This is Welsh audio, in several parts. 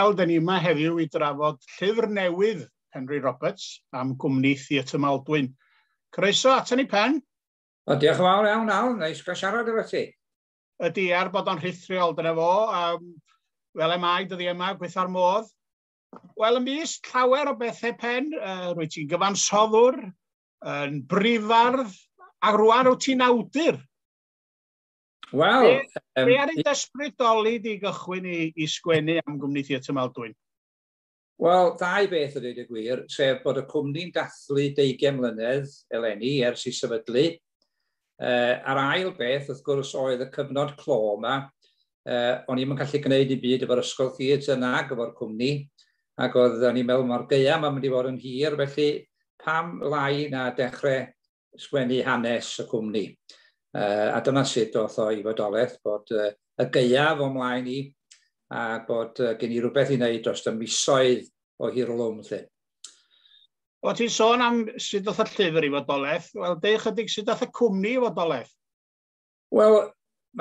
Wel, dyn ni yma heddiw i drafod llyfr newydd Penri Roberts am gwmni Theatr Maldwyn. Croeso ato ni, Pen. O, diolch yn fawr iawn, Al. Neis gael siarad efo ti. Ydy, er bod o'n rhithriol, dyna fo. Fel e mae dyddi yma, gweitha'r modd. Wel, ymysg llawer o bethau, Pen, rwy ti'n gyfansoddwr, yn brifardd, a rwan wyt ti'n awdur. Wel... Be ar ei ysbrydoli di gychwyn i sgwennu am gwmni Theatr Maldwyn? Wel, ddau beth o dweud y gwir, sef bod y cwmni'n dathlu 20 mlynedd eleni ers i sefydlu. A'r ail beth, wrth gwrs, oedd y cyfnod clo yma. O'n i'm yn gallu gwneud i byd efo'r ysgol theatr nag efo'r cwmni, ac oedd o'n i'n meddwl mae'r gaeaf yma'n mynd i fod yn hir, felly pam lai na dechrau sgwennu hanes y cwmni. A dyna sut doth o i fodolaeth, bod y gaeaf o mlaen i, a bod gen i rhywbeth i wneud dros y misoedd o hirlwm. Lle. O, ti'n sôn am sut doth y llyfr i fodolaeth. Wel, deu chydig sut doth y cwmni i fodolaeth? Wel,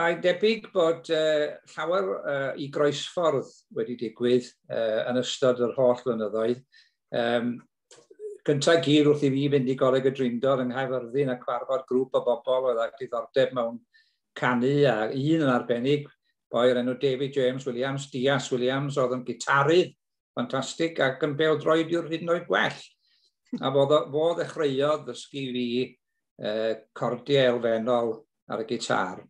mae'n debyg bod llawer i groesffordd wedi digwydd yn ystod yr holl flynyddoedd. Gyntaf gyd wrth i fi fynd i Goleg y Drindod yng Nghaerfyrddin a cwarfod grŵp o bobl oedd â diddordeb mewn canu, a un yn arbennig, boi o'r enw David James Williams, Dias Williams, oedd yn gitarydd ffantastig ac yn bêl-droediwr hyd yn oed gwell. A fo ddechreuodd ddysgu fi cordiau elfennol ar y gitar.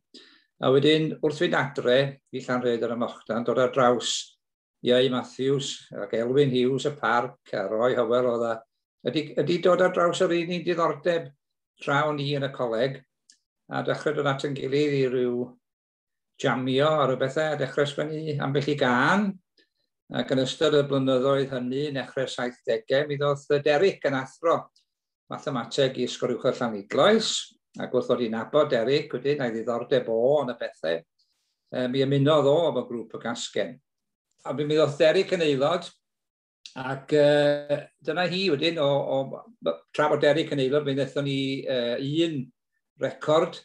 A wedyn, wrth fynd adre i Llanrhaeadr ym Mochdan, dod ar draws Ieu Matthews ac Elwyn Hughes y Parc a Roy Howell oedd a ydy dod ar draws yr un diddordeb tra o'n i yn y coleg, a dechrau dod at yn gilydd i ryw jamio a rhyw bethau, a dechrau sgwennu ambell i gân, ac yn ystod y blynyddoedd hynny, nechrau'r 70au, mi ddoth Derek yn athro mathemateg i Ysgol Uwchradd Llanidloes, ac wrth ddod i nabod Derek wedyn, a'i ddiddordeb o yn y pethau, mi ymunodd o efo grŵp y Gasgen. A mi ddoth Derek yn aelod, ac dyna hi wedyn, tra bod Derek yn aelod, mi wnaethon ni un record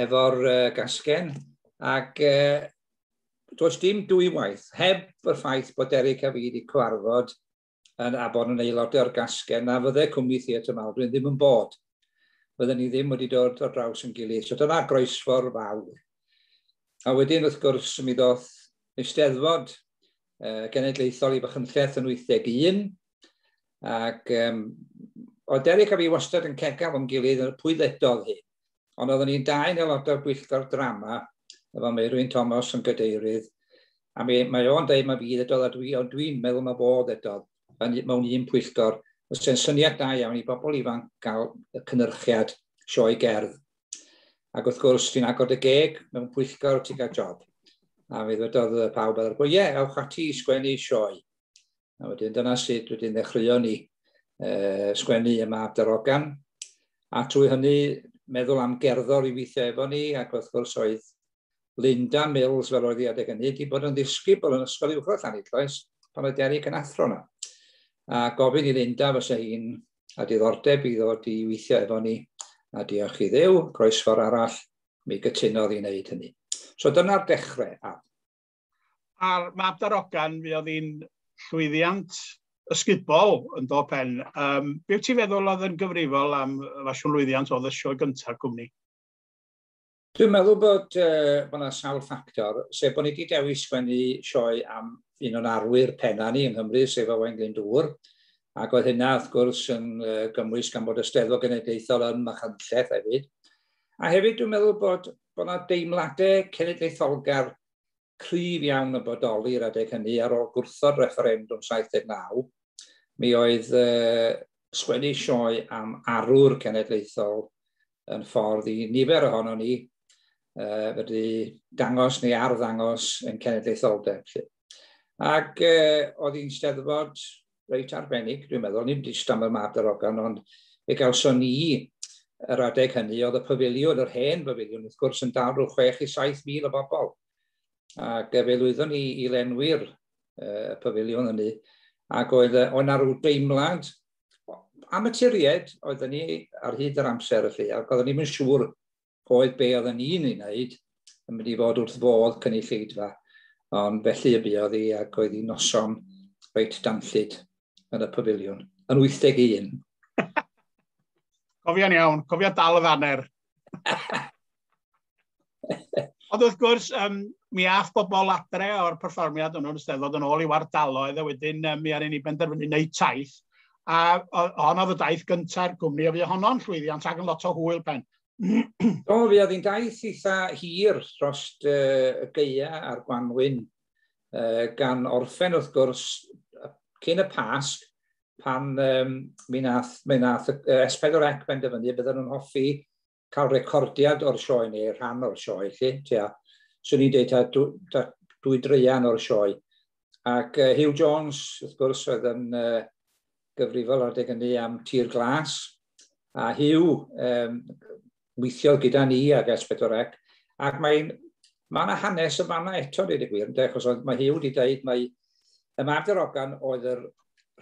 efo'r Gasgen, ac does dim dwywaith, heb y ffaith bod Derek a fi wedi cyfarfod yn a bod yn aelodau o'r Gasgen, na fydde cwmni Theatr Maldwyn ddim yn bod. Fydden ni ddim wedi dod ar draws yn gilydd. So dyna groesffordd fawr. A wedyn, wrth gwrs, mi ddoth Eisteddfod Genedlaethol i Fachynlleth yn 81, ac oedd Derek a fi wastad yn cegaf o'n gilydd yn pwy ddedodd hi. Ond oeddwn ni'n dau'n aelodau bwyllgor drama, efo Meirwyn Thomas yn gadeirydd, a mae o'n deud mae fi ddedodd, a ond dwi'n meddwl mae fo ddedodd mewn un pwyllgor. Os e'n syniad da iawn i bobl ifanc gael y cynhyrchiad sioe gerdd. Ac wrth gwrs, ti'n agor dy geg mewn pwyllgor, ti'n cael job. A mi ddwedodd pawb ar y pwyll, ie, ewch ati i sgwennu sioe. A wedyn dyna sut wedyn ddechreuon ni sgwennu y Mab Darogan. A trwy hynny meddwl am gerddor i weithio efo ni, ac wrth gwrs oedd Linda Mills, fel oedd hi adeg hynny, wedi bod yn ddisgybl yn Ysgol Uwchradd Llanidloes pan oedd Derek yn athro yna. A gofyn i Linda fysa hi'n a diddordeb i ddod i weithio efo ni, a diolch i Dduw, groesffordd arall, mi gytunodd i wneud hynny. So dyna'r dechrau. A'r Mab Darogan, mi oedd hi'n llwyddiant ysgubol yn do, Pen. Be wyt ti'n feddwl oedd yn gyfrifol am fasiwn lwyddiant oedd y sioe gyntaf cwmni? Dwi'n meddwl bod yna sawl ffactor, sef bod ni wedi dewis sgwennu sioe am un o'n arwyr penna ni yng Nghymru, sef Owain Glyndŵr, ac oedd hynna wrth gwrs yn gymwys gan bod y Steddfod Genedlaethol yn Machynlleth hefyd. A hefyd dwi'n meddwl bod yna deimladau cenedlaetholgar cryf iawn yn bodoli yr adeg hynny ar ôl gwrthod refferendwm 79. Mi oedd sgwennu sioe am arwr cenedlaethol yn ffordd i nifer ohono ni fedru dangos neu arddangos yn cenedlaetholdeb. Ac oedd hi'n steddfod reit arbennig, dwi'n meddwl, ni'n jyst am y Mab Darogan, ond fe gawson ni yr adeg hynny, oedd y pafiliwn, yr hen pafiliwn, wrth gwrs, yn dal rhyw 6 i 7 mil o bobl. Ac fe lwyddon ni i lenwi'r pafiliwn hynny, ac oedd yna rhyw deimlad amaturiaid oedden ni ar hyd yr amser felly, ac oedden ni'n siŵr oedd be oedden ni'n ei wneud yn mynd i fod wrth fodd cynulleidfa. Ond felly y buodd hi ac oedd hi noson reit danllyd yn y pafiliwn, yn 81. Cofio'n iawn, cofio dal y faner. Ond wrth gwrs, mi ath bobl adre o'r perfformiad hwnnw'n Steddfod yn ôl i'w ardaloedd, a wedyn mi aru ni benderfynu wneud taith. A hon oedd y daith gynta'r gwmni, a fi honno'n llwyddiant ac yn lot o hwyl, Pen. Do, fi oedd hi'n daith eitha hir dros y gaea a'r gwanwyn, gan orffen wrth gwrs cyn y Pasg, pan mi nath S4C benderfynu bydden nhw'n hoffi cael recordiad o'r sioe neu rhan o'r sioe, lle, tua, swn i'n dweud ta 2 dreian o'r sioe. Ac Hugh Jones, wrth gwrs, oedd yn gyfrifol ar adeg hynny am Tir Glas. A Hugh weithiodd gyda ni ag S4C, ac mae yna hanes y fanna eto, dweud y gwir, ynde, achos mae Hugh wedi dweud mai y Mab Darogan oedd yr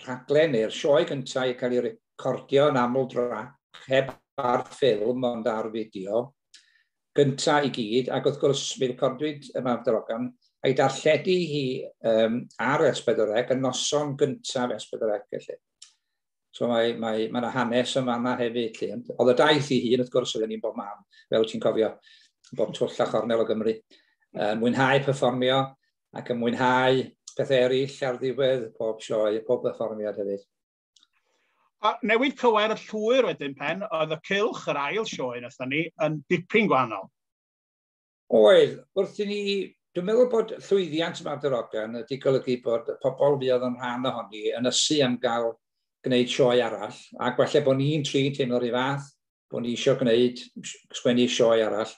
rhaglen neu'r sioe gyntaf i cael ei recordio yn aml drac, heb ar ffilm ond ar fideo, gyntaf i gyd, ac wrth gwrs mi recordiwyd y Mab Darogan, a'i darlledu hi ar S4C, y noson gyntaf S4C, felly. So mae yna hanes yma yna hefyd. Lle. Oedd y daith i hun, wrth gwrs, oedden ni'n bob man, fel ti'n cofio, bob twll a chornel o Gymru. Mwynhau perfformio ac yn mwynhau pethau eraill ar ddiwedd pob sioe, pob perfformiad hefyd. A newid cywair y llwyr wedyn, Pen, oedd y Cylch, yr ail sioe wnaethon ni, yn dipyn gwahanol. Oedd, wrth i ni, dwi'n meddwl bod llwyddiant Mab Darogan wedi golygu bod y pobl fuodd yn rhan ohoni yn ysu am gael gwneud sioe arall, ac falle bod ni'n tri'n teimlo'r un fath, bod ni eisiau gwneud, sgwennu sioe arall.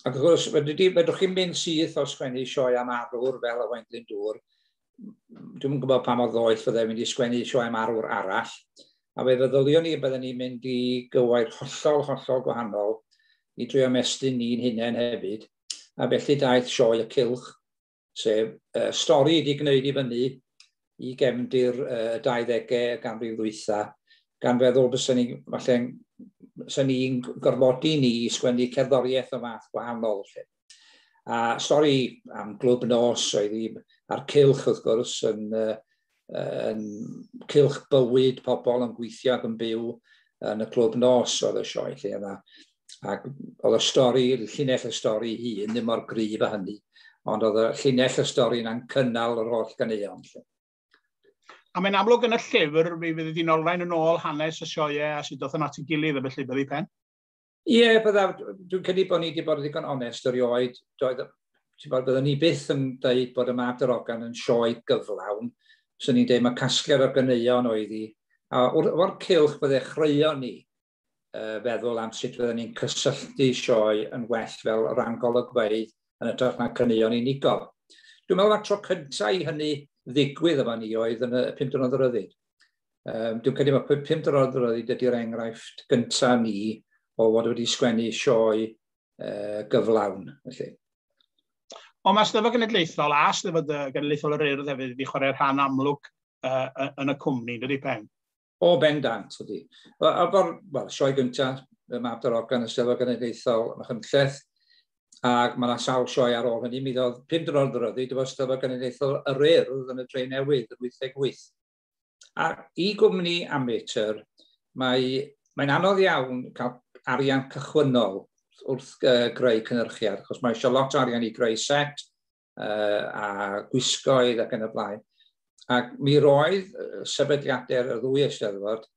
Ac wrth gwrs, fedrwch chi'n mynd syth o sgwennu sioe am arwr fel Owain Glyndŵr, dwi'n gwybod pa mor ddoeth fydde mynd i sgwennu sioe am arwr arall, a fe feddylion ni bydden ni'n mynd i gywair hollol, hollol gwahanol i drio ymestyn ni'n hunain hefyd. A felly daeth sioe y Cylch, sef stori wedi gwneud i fyny i gefndir 20au y ganrif ddwytha, gan feddwl bysa ni, falle, bysa ni'n gorfodi ni i sgwennu cerddoriaeth o fath gwahanol. Lle. A stori am glwb nos oedd hi, a'r cylch wrth gwrs yn cylch bywyd pobl yn gweithio ac yn byw yn y clwb nos oedd y sioe lle yna. Ac oedd y stori, llinell y stori hun ddim mor gryf â hynny, ond oedd y llinell y stori yna'n cynnal yr holl ganeuon. Lle. A mae'n amlwg yn y llyfr, mi fydd hi'n olrhain yn ôl hanes y sioeau a sut ddoth yn at ei gilydd a felly, byddi, Pen? Ie, yeah, byddaf, dwi'n credu bod ni wedi bod yn ddigon onest erioed. Doedd, ti'n bod, byddwn ni byth yn dweud bod y Mab Darogan yn sioe gyflawn. So ni'n dweud mae casgliad o ganeuon oedd hi. A o'r Cylch bydde chreuon ni feddwl am sut fydden ni'n cysylltu sioe yn well fel rhan golygfeydd yn hytrach na caneuon unigol. Dwi'n meddwl mae'r tro cyntaf i hynny ddigwydd efo ni oedd yn y 5 Diwrnod o Ryddid. Dwi'n credu mae 5 Diwrnod o Ryddid ydy'r enghraifft gyntaf ni o fod wedi sgwennu sioe gyflawn. Felly. Ond mae Steddfod Genedlaethol a Steddfod Genedlaethol yr Urdd hefyd wedi chwarae rhan amlwg yn y cwmni, dydy, Pen? O, bendant, ydy. Wel, sioe gyntaf, y Mab Darogan, y Steddfod Genedlaethol Machynlleth, ac mae yna sawl sioe ar ôl hynny. Mi ddodd 5 Diwrnod o Ryddid efo Steddfod Genedlaethol yr Urdd yn y Dre Newydd yn 88. A i gwmni amateur, mae'n anodd iawn cael arian cychwynnol wrth greu cynhyrchiad, achos mae eisiau lot o arian i greu set a gwisgoedd ac yn y blaen. Ac mi roedd sefydliadau'r y ddwy eisteddfod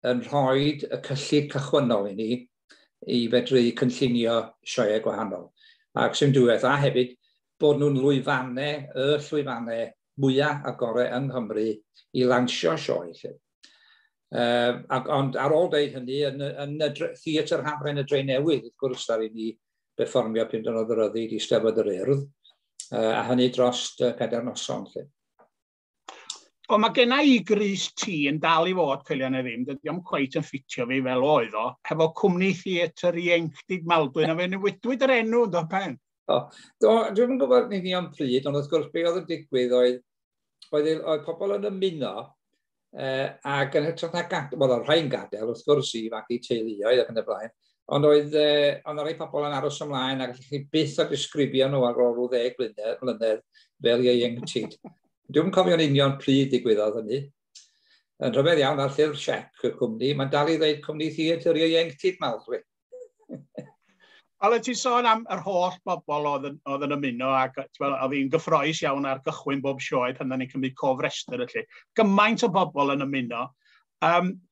yn rhoi y cyllid cychwynnol i ni i fedru cynllunio sioeau gwahanol. Ac sy'n diwedd, a hefyd bod nhw'n lwyfannau, y llwyfannau mwyaf a gorau yng Nghymru i lansio sioe. Lle. Ond ar ôl dweud hynny, yn y Theatr Hafren y Dre Newydd, wrth gwrs, ar i ni berfformio 5 Diwrnod o Ryddid i Steddfod yr Urdd, a hynny dros 4 noson. Lle. O, mae genna i grys T yn dal i fod, coelia neu ddim, dydy o'm cweit yn ffitio fi fel oedd o, hefo Cwmni Theatr Ieuenctid Maldwyn, a fe newidwyd yr enw, do, Pen? O, do, dwi'n gwybod yn union pryd, ond wrth gwrs be oedd yn digwydd oedd pobl yn ymuno ac yn hytrach na gadael, wel, oedd rhai'n gadael wrth gwrs i fagu teuluoedd ac yn y blaen, Ond oedd, ond rai pobl yn aros ymlaen ac allwch chi byth a disgrifio nhw ar ôl rhyw 10 mlynedd fel ieuenctid. Dwi'n cofio'n union pryd digwyddodd hynny. Yn rhyfedd iawn ar llyfr siec y cwmni, mae'n dal i ddeud Cwmni Theatr Ieuenctid Maldwyn. Wel, ti'n sôn am yr holl bobl oedd yn ymuno, ac oedd hi'n gyffroes iawn ar gychwyn bob sioe pan ni'n cymryd cofrestr felly. Gymaint o bobl yn ymuno.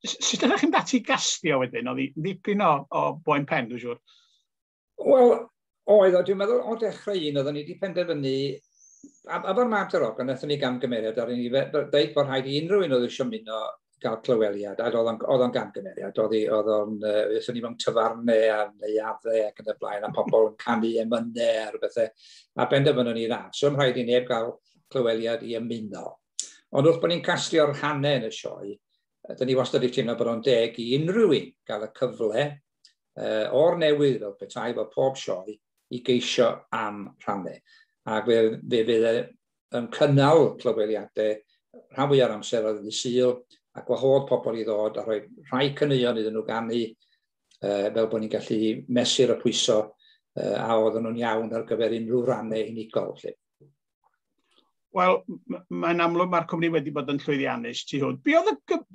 Sut ydych chi'n dati gastio wedyn? Oedd hi'n ddipyn o boen pen, dwi'n siŵr. Wel, oedd, dwi'n meddwl o dechrau un, oedden ni wedi penderfynu, a fo'r Mab Darogan, wnaethon ni gamgymeriad, ar ni dweud bod rhaid i unrhyw un oedd eisiau ymuno gael clyweliad, a oedd o'n gamgymeriad, oedd o'n, ni mewn tafarnau a neuaddau ac yn y blaen, a pobl yn canu emynau a rhywbethau, a benderfynon ni na, so yn rhaid i neb gael clyweliad i ymuno. Ond wrth bod ni'n castio'r rhannau yn y sioe, dyn ni wastad wedi teimlo bod o'n deg i unrhyw un gael y cyfle o'r newydd fel petai fod pob sioe i geisio am rhannau. Ac fe fydd yn cynnal clyweliadau rhan fwyaf o'r amser ar ddydd Sul a gwahodd pobl i ddod a rhoi rhai caneuon iddyn nhw ganu fel bod ni'n gallu mesur y pwyso a oedden nhw'n iawn ar gyfer unrhyw rannau unigol. Felly. Wel, mae'n amlwg mae'r cwmni wedi bod yn llwyddiannus tu hwnt. Be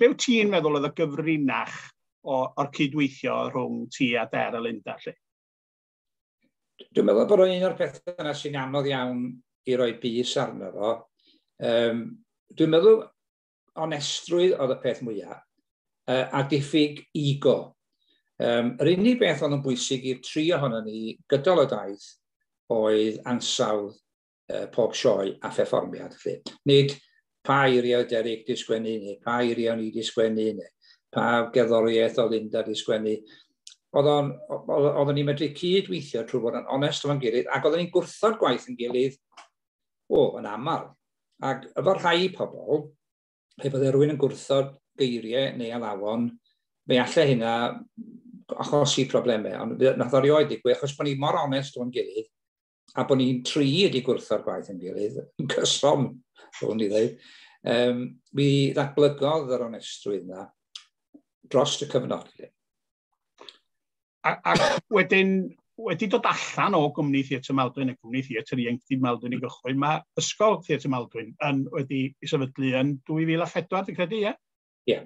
wyt ti'n meddwl oedd y gyfrinach o'r cydweithio rhwng ti a Der a Linda? Lle? Dwi'n meddwl bod o'n un o'r pethau yna sy'n anodd iawn i roi bys arno fo. Dwi'n meddwl onestrwydd oedd y peth mwyaf, a diffyg ego. Yr unig beth oedd yn bwysig i'r tri ohonon ni gydol y daith oedd ansawdd pob sioe a pherfformiad. Nid pa eiriau Derek di sgwennu, neu pa eiriau ni di sgwennu, neu pa gerddoriaeth oedd Linda di sgwennu. Oedden ni'n medru cydweithio trwy fod yn onest efo'n gilydd, ac oedden ni'n gwrthod gwaith yn gilydd, yn aml. Ac efo rhai pobl, pe bydde rhywun yn gwrthod geiriau neu alawon, fe allai hynna achosi problemau. Ond nath o erioed ddigwydd, achos bod ni mor onest efo'n gilydd, a bod ni'n tri wedi gwrtho'r gwaith yn gilydd, yn cyson, rwy'n i ddweud, mi ddatblygodd yr onestrwydd yna dros y cyfnod. A wedyn, wedi dod allan o Gwmni Theatr Maldwyn, y Gwmni Theatr Ieuenctid Maldwyn i gychwyn, mae Ysgol Theatr Maldwyn wedi ei sefydlu yn 2004, dwi'n credu, ie? Ie.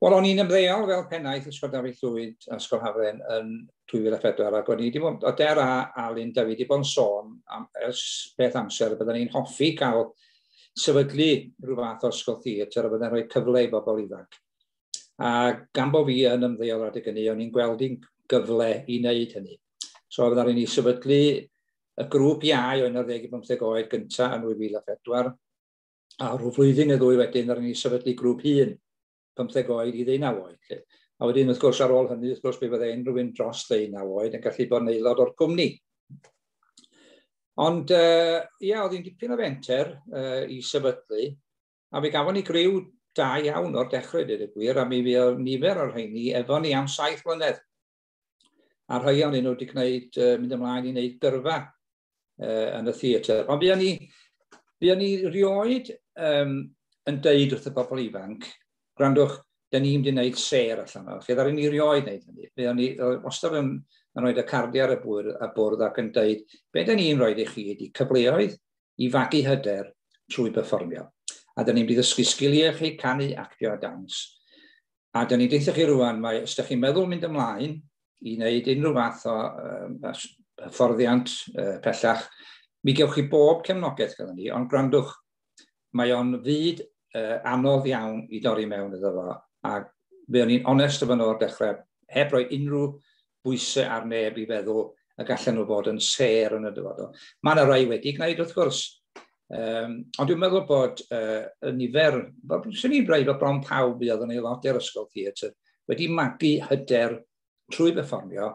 Wel, o'n i'n ymddeol fel pennaeth Ysgol Dafydd Llwyd a Ysgol Hafren yn 2004, ac o'n i wedi bod, o Der a Alun David wedi bod yn sôn am, ers beth amser, byddwn ni'n hoffi cael sefydlu rhyw fath o ysgol theatr a byddai'n rhoi cyfle i bobl ifanc. A gan bo fi yn ymddeol adeg hynny, o'n i'n gweld i'n gyfle i wneud hynny. So fydda ni sefydlu y grŵp iau o 11 i 15 oed gyntaf yn 2004, a rhyw flwyddyn neu ddwy wedyn ddaru ni sefydlu grŵp hŷn, 15 oed i 19 oed. Lle. A wedyn, wrth gwrs, ar ôl hynny, wrth gwrs, be fyddai unrhyw un dros 19 oed yn gallu bod yn aelod o'r cwmni. Ond, ia, oedd hi'n dipyn o fenter i sefydlu, a fe gafon ni griw da iawn o'r dechrau, dweud y gwir, a mi fuodd nifer o'r rheini efo ni am 7 mlynedd. A rhai o'n nhw wedi gwneud, mynd ymlaen i wneud gyrfa yn y theatr. Ond fuon ni rioed yn deud wrth y bobl ifanc, gwrandwch, da ni'n mynd i wneud sêr allan o. Lle ddaru ni rioed wneud hynny. Fuon ni wastad yn rhoi y cardiau ar y bwrdd ac yn deud, be da ni'n rhoi i chi ydy cyfleoedd i fagu hyder trwy berfformio. A da ni'n mynd i ddysgu sgiliau chi, canu, actio a dawns. A da ni'n deithio chi rwan, mae, os da chi'n meddwl mynd ymlaen i wneud unrhyw fath o hyfforddiant pellach, mi gewch chi bob cefnogaeth gyda ni, ond gwrandwch, mae o'n fyd anodd iawn i dorri mewn iddo fo, a fe o'n i'n onest efo nhw o'r dechrau, heb roi unrhyw bwysau ar neb i feddwl y gallen nhw fod yn sêr yn y dyfodol. Mae yna rai wedi gwneud, wrth gwrs, ond dwi'n meddwl bod y nifer, swn i'n dweud bod bron pawb oedd yn aelodau'r ysgol theatr wedi magu hyder trwy berfformio,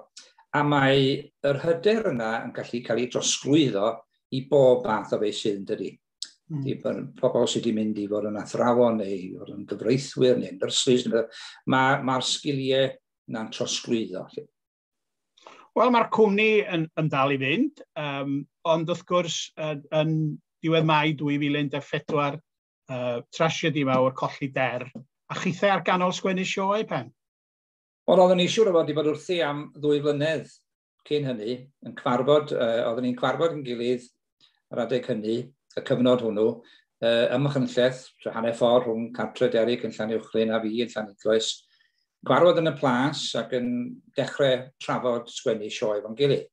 a mae yr hyder yna yn gallu cael ei drosglwyddo i bob math o feysydd, yn dydi? I pobl sydd wedi mynd i fod yn athrawon neu i fod yn gyfreithwyr neu nyrsys, mae'r sgiliau na'n trosglwyddo. Wel, mae'r cwmni yn dal i fynd, ond wrth gwrs, yn diwedd Mai 2014, trasiedi mawr, colli Der, a chithau ar ganol sgwennu sioe, Pen? Ond oeddwn ni siŵr o fod wedi bod wrthi am 2 flynedd cyn hynny, yn cwarfod, oeddwn ni'n cwarfod yn gilydd ar adeg hynny, y cyfnod hwnnw, ym Machynlleth, hanner ffordd rhwng cartre Derek yn Llanuwchllyn a fi yn Llanidloes, gwarfod yn y plas ac yn dechrau trafod sgwennu sioe fo'n gilydd.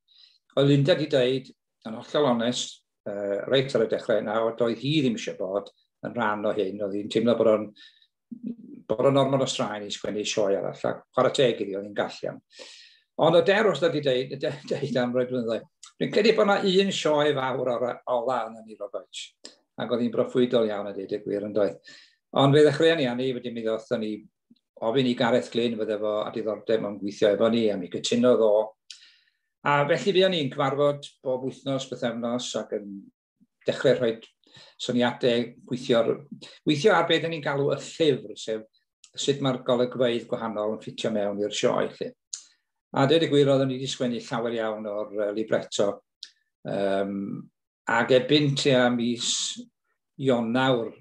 Oedd Linda wedi dweud, yn hollol onest, reit ar y dechrau yna, doedd hi ddim eisiau bod yn rhan o hyn, oedd hi'n teimlo bod o'n ormod o straen i sgwennu sioe arall, a chwarae teg iddi, oedd hi'n gall iawn. Ond y der wrth wedi deud am roi blynyddoedd, dwi'n credu bod yna un sioe fawr o'r ola yn ni, Robert, ac oedd hi'n broffwydol iawn a dweud y gwir yn doedd. Ond fe ddechreuon ni ani, wedyn mi ddothon ni ofyn i Gareth Glyn fydde fo a diddordeb mewn gweithio efo ni, a mi gytunodd o. A felly fuon ni'n cyfarfod bob wythnos, bythefnos, ac yn dechrau rhoi syniadau, gweithio ar beth ni'n galw y llyfr, sef sut mae'r golygfeydd gwahanol yn ffitio mewn i'r sioe. Lle. A dweud y gwir, oeddwn ni wedi sgwennu llawer iawn o'r libretto. Ac erbyn tua mis Ionawr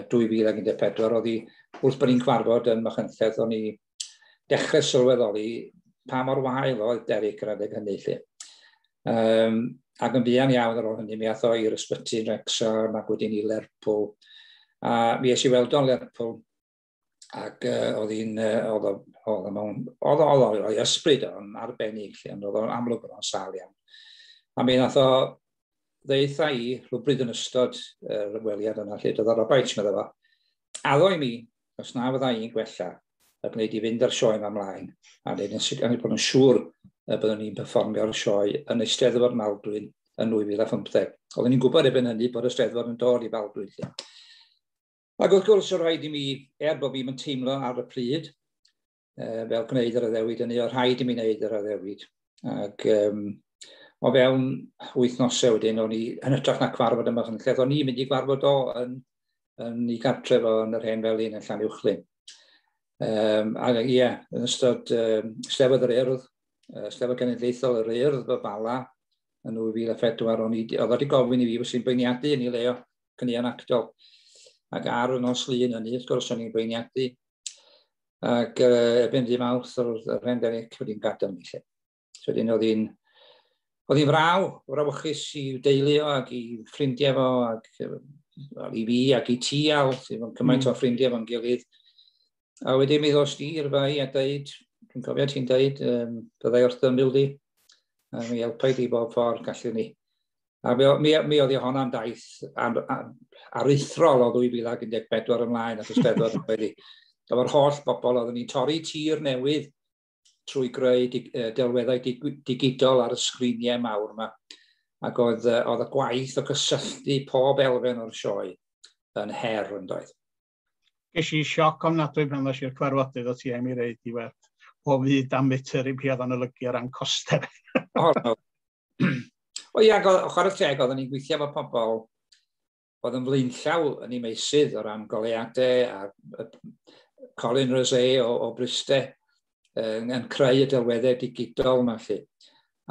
2014, oedd hi, wrth bod ni'n cyfarfod yn Machynlleth, o'n i dechrau sylweddoli pa mor wael oedd Derek yr adeg hynny. Lle. Ac yn fuan iawn ar ôl hynny, mi ath o i'r ysbyty yn Wrexham ac wedyn i Lerpwl. A mi es i weld o'n Lerpwl ac oedd hi'n, oedd o, oedd o mewn, oedd o ysbryd o'n arbennig, lle, ond oedd o'n amlwg bod o'n sâl iawn. A mi nath o ddeutha i rhywbryd yn ystod yr ymweliad yna, lle doedd o Robaich, medda fo, addo i mi, os na fydda i'n gwella, y gwneud i fynd ar sioe yma ymlaen, a wneud yn sicr bod yn siŵr y byddwn ni'n perfformio'r sioe yn Eisteddfod Maldwyn yn 2015. Oeddwn ni'n gwybod erbyn hynny bod y Steddfod yn dod i Faldwyn. Lle. Ac wrth gwrs, o rhaid i mi, er bod fi'n teimlo ar y pryd, fel gwneud yr addewid hynny, o rhaid i mi wneud yr addewid. Ac o fewn wythnosau wedyn, o'n i, yn hytrach na cwarfod yma yn lle, o'n i'n mynd i gwarfod o yn ei gartref o yn yr hen felin yn Llanuwchllyn. Ac ie, yeah, yn ystod Steddfod yr Urdd, Steddfod Genedlaethol yr Urdd y Bala, yn 2004, o'n i, oedd wedi gofyn i fi fos i'n beirniadu yn ei le o, caneuon actol. Ac ar y nos Lun hynny, wrth gwrs, o'n i'n beirniadu. Ac erbyn dydd Mawrth, oedd yr hen Derek wedi'n gadael ni lle. So wedyn oedd hi'n frawychus i deulu o ac i ffrindiau fo ac well, i fi ac i ti Al, sydd yn cymaint o ffrindiau fo'n gilydd. A wedyn mi ddos di i'r fai a dweud, dwi'n cofio ti'n dweud, byddai wrth ymyl di, a mi helpai di bob ffordd gallwn ni. A mi oedd hi honna'n daith aruthrol o 2014 ymlaen at y Steddfod yn wedi. Efo'r holl bobl oeddwn ni'n torri tir newydd trwy greu delweddau digidol ar y sgriniau mawr yma. Ac oedd y gwaith o gysylltu pob elfen o'r sioe yn her yn doedd. Ges i sioc ofnadwy pan ddos i'r cyfarfodydd o ti am i reid i weld o fyd amatur i fi oedd o'n olygu o ran costau. O, no. O ia, chwarae teg, oeddwn ni'n gweithio efo pobl oedd yn flaenllaw yn ei meysydd o ran goleuadau a Colin Rosé o Bryste yn creu y delweddau digidol yma lle.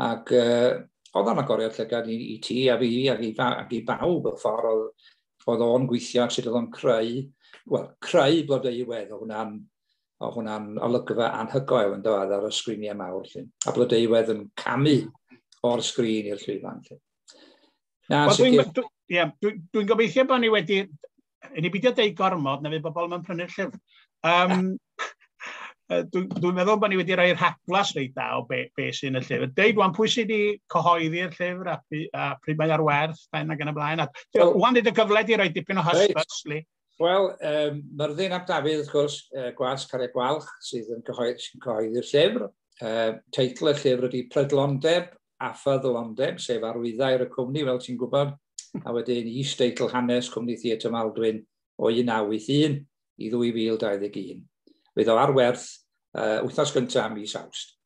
Ac oedd o'n agoriad llygad i ti a fi ac i bawb y ffordd oedd o'n gweithio ac sut oedd o'n creu, wel, creu Blodeuwedd, oedd hwnna'n olygfa anhygoel yn dod ar y sgriniau mawr. Lle. A Blodeuwedd yn camu o'r sgrin i'r llwyfan. Lle. Na, well, dwi'n dwi, yeah, dwi gobeithio bod ni wedi... I ni beidio deud gormod, na fydd bobl yn prynu'r llyfr. Dwi meddwl bod ni wedi rhoi rhagflas reit da o be sy'n y llyfr. Deud wan, pwy sydd wedi cyhoeddi'r llyfr a pryd mae ar werth, ben ac yn y blaen. A, well, wan y gyfle di roi dipyn o hysbys, li. Wel, Myrddin ap Dafydd, wrth gwrs, Gwasg Carreg Gwalch, sydd yn cyhoeddi'r llyfr. Teitl y llyfr ydy Prydlondeb a Ffyddlondeb, sef arwyddair y cwmni, fel ti'n gwybod, a wedyn is-deitl hanes Cwmni Theatr Maldwyn o 1981 i 2021. Fydd o ar werth wythnos gyntaf mis Awst.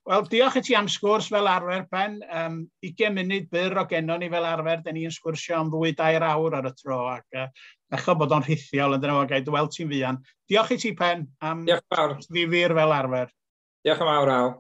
Wel, diolch i ti am sgwrs fel arfer, Ben. 20 munud byr o gennon ni fel arfer, da ni'n sgwrsio am 2-3 awr ar y tro, ac echo bod o'n rhithiol, yn dyna fo, gai dy weld ti'n fuan. Diolch i ti, Pen, am Diolch fawr. ddifyr fel arfer. Diolch yn fawr, Al.